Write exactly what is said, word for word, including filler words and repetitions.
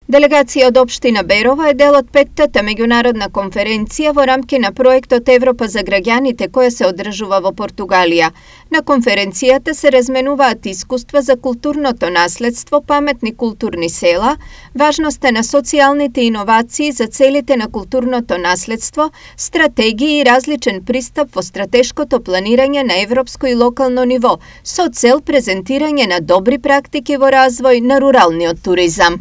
Делегација од општина Берово е дел од петтата меѓународна конференција во рамки на проектот Европа за граѓаните која се одржува во Португалија. На конференцијата се разменуваат искуства за културното наследство, паметни културни села, важноста на социјалните иновации за целите на културното наследство, стратегии и различен пристап во стратешкото планирање на европско и локално ниво, со цел презентирање на добри практики во развој на руралниот туризам.